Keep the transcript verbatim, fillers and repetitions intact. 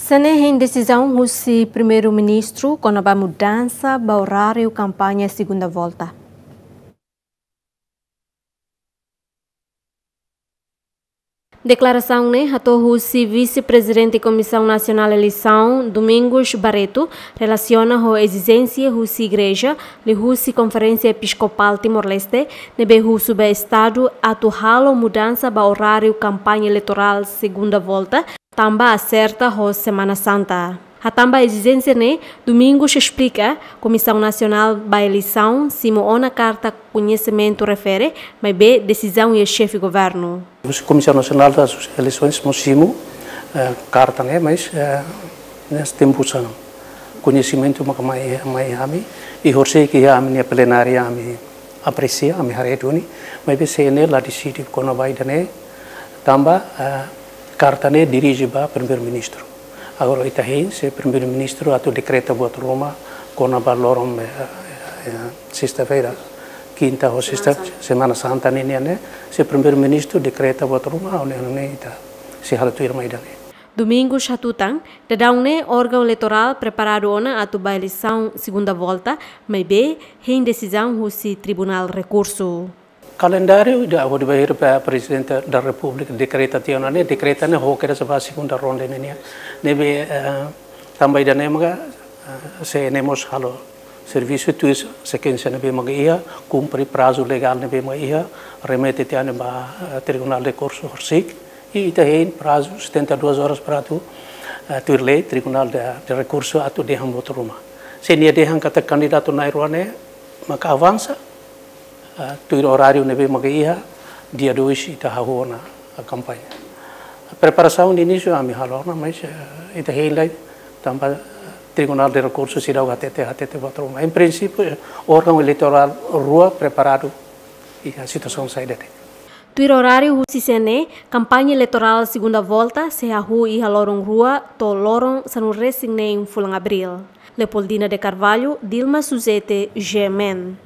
Sira-ne'e hein desizaun husi Primeiru-Ministru kona-ba mudansa ba oráriu kampaña segunda volta. Deklarasaun ne'e hato'o husi Vise-Prezidente Komisaun Nasionál Eleisaun, Domingos Barreto, relasiona ho ezijénsia husi Igreja, liuhusi Konferénsia Episkopál Timor-Leste, ne'ebé husu ba Estadu atu halo mudansa ba oráriu kampaña eleitorál segunda volta, tanba aserta ho Semana Santa. Hatán ba ezijénsia ne'e, Domingos esplika, Komisaun Nasionál ba Eleisaun simu ona karta koñesimentu refere, maibé desizaun iha Xefe Governu. Komisaun Nasionál das Eleisoens mós simu, eh, karta ne'e, mas, eh, ne'e tempu sira-ne'e koñesimentu maka mai, mai ami, i horisehik iha ami-nia plenária ami apresia, ami haree duni, maibé C N E la deside kona-ba ida-ne'e, tanba, eh, karta ne'e dirije ba Primeiru-Ministru. Agora ita hein, se Primeiru-Ministru atu dekreta buat ruma kona-ba loron, eh, eh, sesta-feira, kinta ho sesta, Semana Santa. Semana Santa ninian ne'e, se Primeiru-Ministru dekreta buat ruma, ha'u hanoin ita sei halo tuirmai ida-ne'e. Domingos hatutan, daudaun ne'e órgaun eleitorál preparadu ona atu ba eleisaun segunda volta, maibé hein desizaun husi Tribunál Rekursu. Kalendáriu ida hodi bainhira Prezidente da Repúblika dekreta tiha ona ne'e, dekreta ne'e ho kedas ba segunda ronda ninian. Ne'ebé, eh, tanba ida-ne'e maka, eh, C N E mós halo servisu tuir sekuénsia ne'ebé maka iha, kumpre prazu legál ne'ebé maka iha, remete tiha ona ba, eh, Tribunál Rekursu horisehik, i ita hein prazu setenta e duas horas para atu, eh, tuir lei, Tribunál de, de Rekursu atu dehan buat ruma. Se nia dehan katak kandidatu na'in-rua ne'e maka avansa, eh, tuir oráriu ne'ebé maka iha, dia dois ita hahú ona, eh, kampaña. Preparasaun inísiu ami halo ona, mas, eh, ita hein lai, tanba, eh, Tribunál de Rekursu seidauk hatete, hatete buat ruma. Em princípio, eh, órgaun eleitorál rua preparadu iha situasaun saida de'it. Tuir oráriu husi C N E, kampaña eleitorál segunda volta sei hahú iha loron rua to'o loron sanulu-resin-neen fulan Abríl. Leopoldina de Carvalho, Dilma Suzete, G M N.